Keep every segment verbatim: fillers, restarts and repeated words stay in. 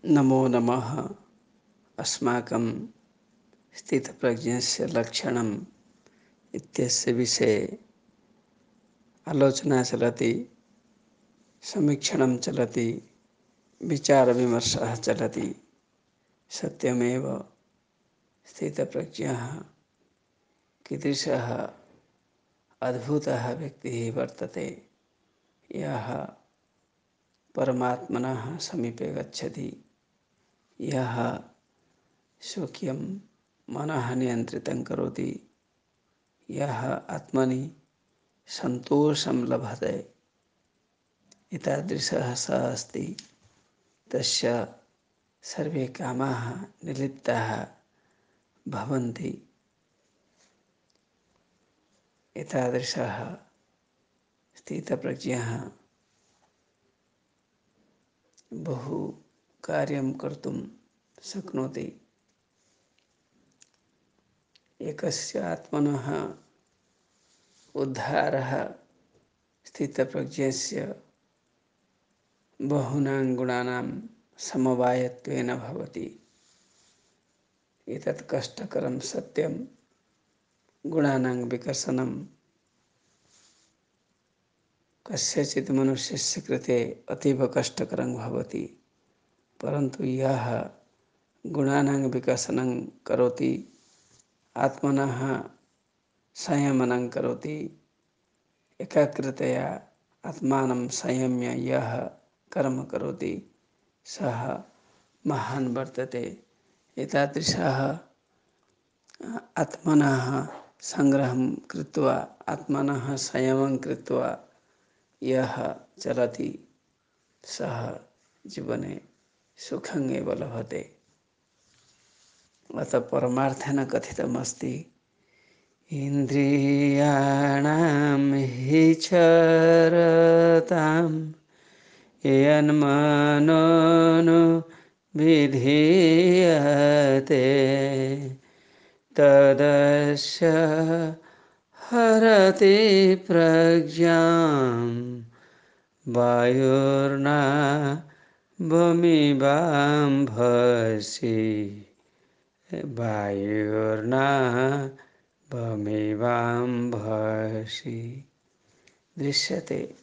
नमो नमः। अस्माकं स्थितप्रज्ञस्य लक्षणम् इत्यस्य विषये आलोचना चलति, समीक्षणं चलति, विचारविमर्शः चलति। सत्यमेव स्थितप्रज्ञः कीदृशः अद्भुतः व्यक्तिः वर्तते, यः परमात्मनः समीपे गच्छति, यः स्वकीयं मनः नियन्त्रितं करोति, यः आत्मनि सन्तोषं लभते। एतादृशः सः अस्ति, तस्य सर्वे कामाः निर्लिप्ताः भवन्ति। एतादृशः स्थितप्रज्ञः बहु कार्यं कर्तुं शक्नोति। एकस्य आत्मनः उद्धारः स्थितप्रज्ञस्य बहूनां गुणानां समवायत्वेन भवति। एतत् कष्टकरं सत्यं। गुणानां विकसनं कस्यचित् मनुष्यस्य कृते अतीव कष्टकरं भवति, परन्तु यः गुणानां विकसनं करोति, आत्मनः संयमनं करोति, एकाग्रतया आत्मानं संयम्य यः कर्म करोति, सः महान् वर्तते। एतादृशः आत्मनः संग्रहं कृत्वा, आत्मनः संयमं कृत्वा यः चलति, सः जीवने सुखम् एव लभते। अतः परमार्थेन कथितमस्ति, इन्द्रियाणां हि चरतां यन्मनोनु विधीयते तदस्य हरति प्रज्ञां वायुर्नावमिवाम्भसि वायुर्नावमिवाम्भसि। दृश्यते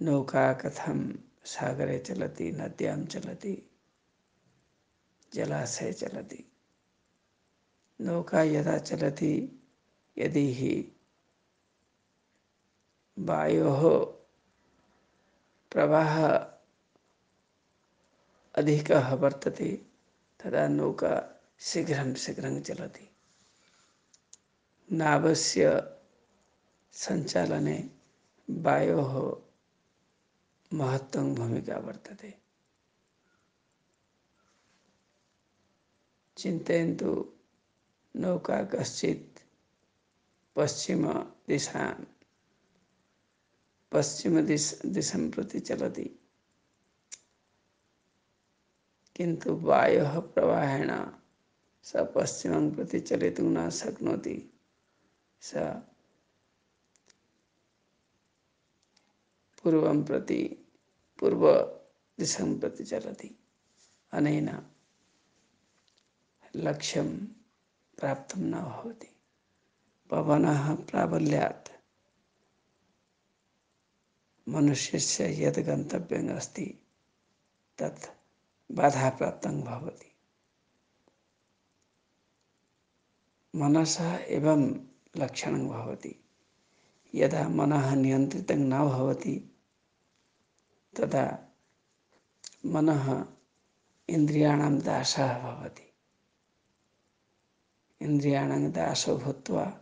नौका कथं सागरे चलति, नद्यां चलति, जलाशये चलति। नौका यदा चलति, यदि हि वायोः प्रवाहः अधिकः वर्तते, तदा नौका शीघ्रं शीघ्रं चलति। नावस्य सञ्चालने वायोः महत्त्वं भूमिका वर्तते। चिन्तयन्तु, नौका कश्चित् पश्चिमदिशां पश्चिमदिश दिशं प्रति चलति, किन्तु वायोः प्रवाहेण स पश्चिमं प्रति चलितुं न शक्नोति। स पूर्वं प्रति पूर्वदिशं प्रति चलति। अनेन लक्ष्यं प्राप्तं न भवति। पवनः प्राबल्यात् मनुष्यस्य यद् गन्तव्यम् अस्ति, तत् बाधाप्राप्तं भवति। मनसः एवं लक्षणं भवति। यदा मनः नियन्त्रितं न भवति, तदा मनः इन्द्रियाणां दासः भवति। इन्द्रियाणां दासो भूत्वा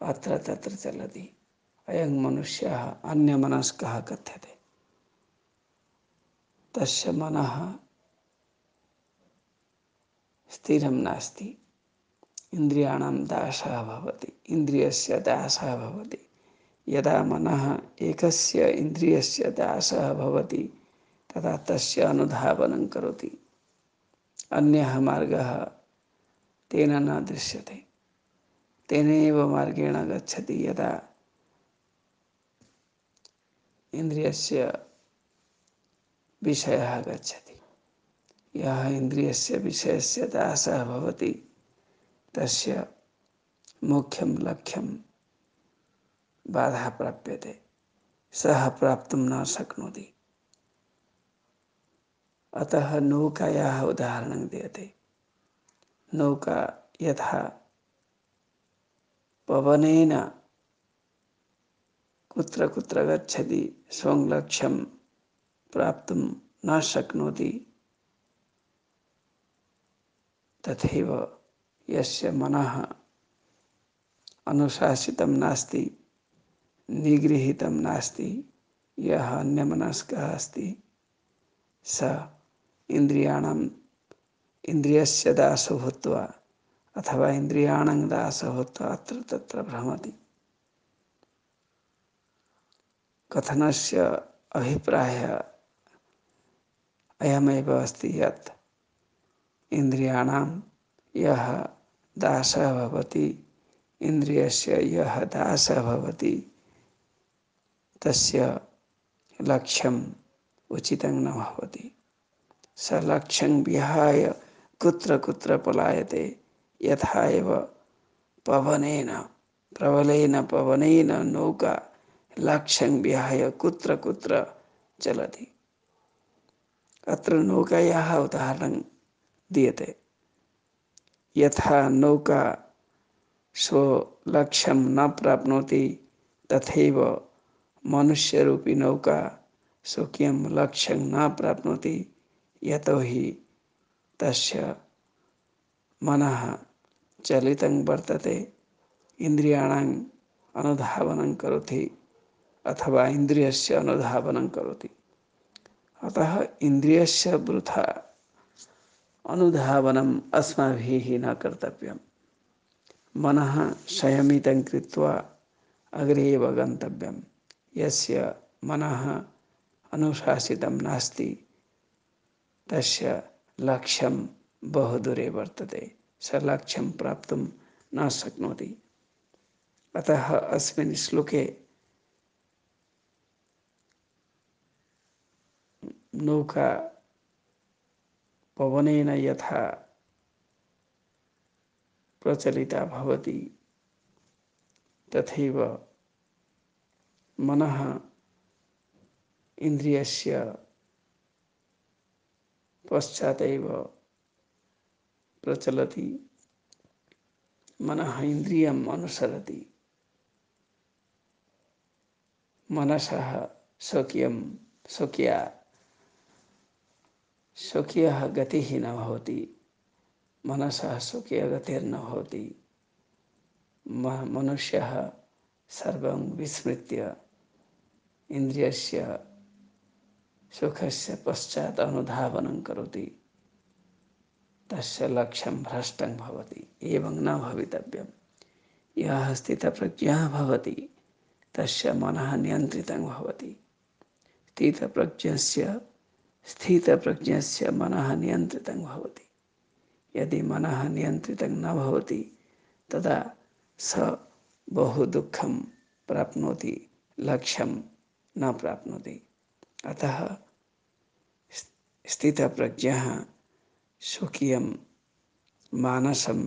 अत्र तत्र चलति। अयं मनुष्यः अन्यमनस्कः कथ्यते। तस्य मनः स्थिरं नास्ति, इन्द्रियाणां दासः भवति, इन्द्रियस्य दासः भवति। यदा मनः एकस्य इन्द्रियस्य दासः भवति, तदा तस्य अनुधावनं करोति। अन्यः मार्गः तेन न दृश्यते। तेनैव मार्गेण गच्छति। यदा इन्द्रियस्य विषयः गच्छति। यः इन्द्रियस्य विषयस्य दासः भवति तस्य मुख्यं लक्ष्यं बाधा प्राप्यते, सः प्राप्तुं न शक्नोति। अतः नौकायाः उदाहरणं दीयते। नौका यथा पवनेन कुत्र कुत्र गच्छति, स्वं लक्ष्यं प्राप्तुं न शक्नोति, तथैव यस्य मनः अनुशासितं नास्ति, निगृहीतं नास्ति, यः अन्यमनस्कः अस्ति, स इन्द्रियाणाम् इन्द्रियस्य दासो भूत्वा अथवा इन्द्रियाणां दासो भूत्वा अत्र तत्र भ्रमति। कथनस्य अभिप्रायः अयमेव अस्ति यत् इन्द्रियाणां यः दासः भवति, इन्द्रियस्य यः दासः भवति, तस्य लक्ष्यम् उचितं न भवति। स लक्ष्यं विहाय कुत्र कुत्र पलायते, यथा एव पवनेन प्रबलेन पवनेन नौका लक्ष्यं विहाय कुत्र कुत्र चलति। अत्र नौकायाः उदाहरणं दीयते। यथा नौका स्वलक्ष्यं न प्राप्नोति, तथैव मनुष्यरूपी नौका स्वकीयं लक्ष्यं न प्राप्नोति, यतोहि तस्य मनः चलितं वर्तते, इन्द्रियाणाम् अनुधावनं करोति अथवा इन्द्रियस्य अनुधावनं करोति। अतः इन्द्रियस्य वृथा अनुधावनम् अस्माभिः न कर्तव्यम्। मनः संयमितं कृत्वा अग्रे एव गन्तव्यम्। यस्य मनः अनुशासितं नास्ति, तस्य लक्ष्यं बहुदूरे वर्तते, स लक्ष्यं प्राप्तुं न शक्नोति। अतः अस्मिन् श्लोके नौका पवनेन यथा प्रचलिता भवति, तथैव मनः इन्द्रियस्य पश्चादेव प्रचलति, मनः इन्द्रियम् अनुसरति। मनसः स्वकीयं स्वकीया स्वकीयः गतिः न भवति, मनसः स्वकीयगतिर्न भवति। मनुष्यः सर्वं विस्मृत्य इन्द्रियस्य सुखस्य पश्चात् अनुधावनं करोति, तस्य लक्ष्यं भ्रष्टं भवति। एवं न भवितव्यम्। यः स्थितप्रज्ञः भवति तस्य मनः नियन्त्रितं भवति। स्थितप्रज्ञस्य स्थितप्रज्ञस्य मनः नियन्त्रितं भवति। यदि मनः नियन्त्रितं न भवति, तदा स बहु दुःखं प्राप्नोति, लक्ष्यं न प्राप्नोति। अतः स्थितप्रज्ञः स्वकीयं मानसं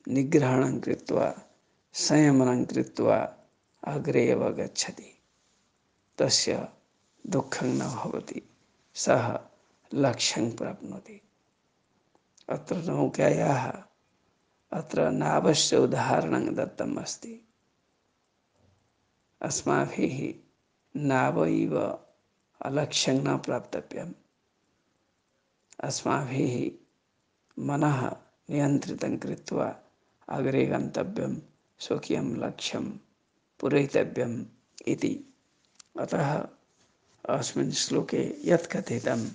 निग्रहणं कृत्वा संयमनं कृत्वा अग्रे एव गच्छति, तस्य दुःखं न भवति, सः लक्ष्यं प्राप्नोति। अत्र नौकायाः अत्र नावस्य उदाहरणं दत्तम् अस्ति। अस्माभिः नाव इव अलक्ष्यं न प्राप्तव्यम्। अस्माभिः मनः नियन्त्रितं कृत्वा अग्रे गन्तव्यं, स्वकीयं लक्ष्यं पूरयितव्यम् इति। अतः अस्मिन् श्लोके यत् कथितम्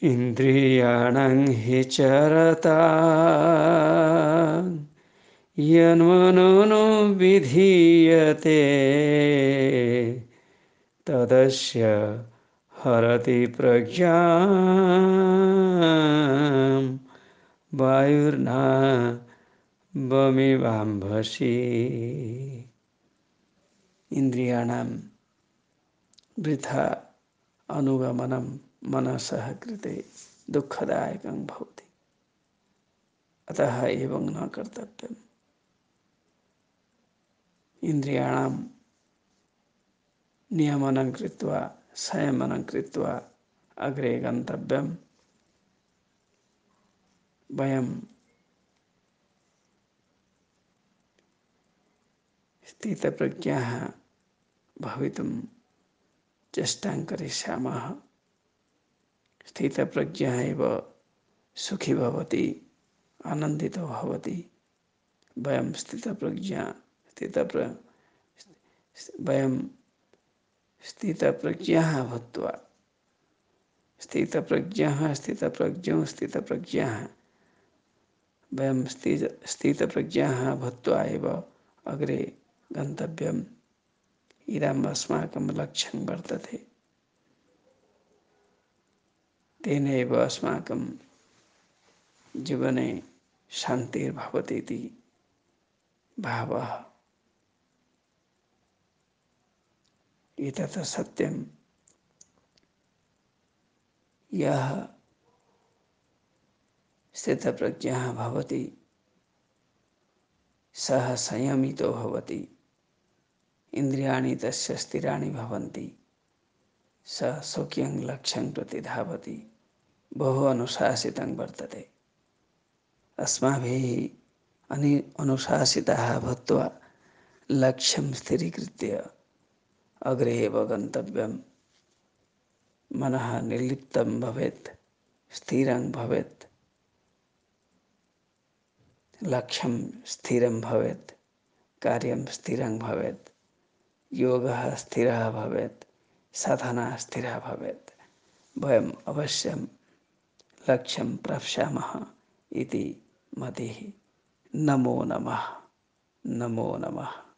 इन्द्रियाणां हि चरता यन्मनो विधीयते तदस्य हरति प्रज्ञां वायुर्ना बमिवाम्भसि। इंद्रियाणां वृथा अनुगमनं मनसः कृते दुःखदायकं भवति। अतः एवं न कर्तव्यम्। इन्द्रियाणां नियमनं कृत्वा संयमनं कृत्वा अग्रे गन्तव्यम्। वयं स्थितप्रज्ञाः भवितुं चेष्टां करिष्यामः। स्थितप्रज्ञः एव सुखी भवति, आनन्दितो भवति। वयं स्थितप्रज्ञा स्थितप्र वयं स्थितप्रज्ञाः भूत्वा स्थितप्रज्ञाः स्थितप्रज्ञौ स्थितप्रज्ञाः वयं स्थित स्थितप्रज्ञाः भूत्वा एव अग्रे गन्तव्यम्। इदम् अस्माकं लक्ष्यं वर्तते। तेनैव अस्माकं जीवने शान्तिर्भवति इति भावः। एतत् सत्यं। यः स्थितप्रज्ञः भवति सः संयमितो भवति। इन्द्रियाणि तस्य स्थिराणि भवन्ति। सः स्वकीयं लक्ष्यं प्रति धावति। बहु अनुशासितं वर्तते। अस्माभिः अनि अनुशासिताः भूत्वा लक्ष्यं स्थिरीकृत्य अग्रे एव गन्तव्यम्। मनः निर्लिप्तं भवेत्, स्थिरं भवेत्, लक्ष्यं स्थिरं भवेत्, कार्यं स्थिरं भवेत्, योगः स्थिरः भवेत्, साधना स्थिरा भवेत्। वयम् अवश्यं लक्ष्यं प्राप्स्यामः इति मतिः। नमो नमः। नमो नमः।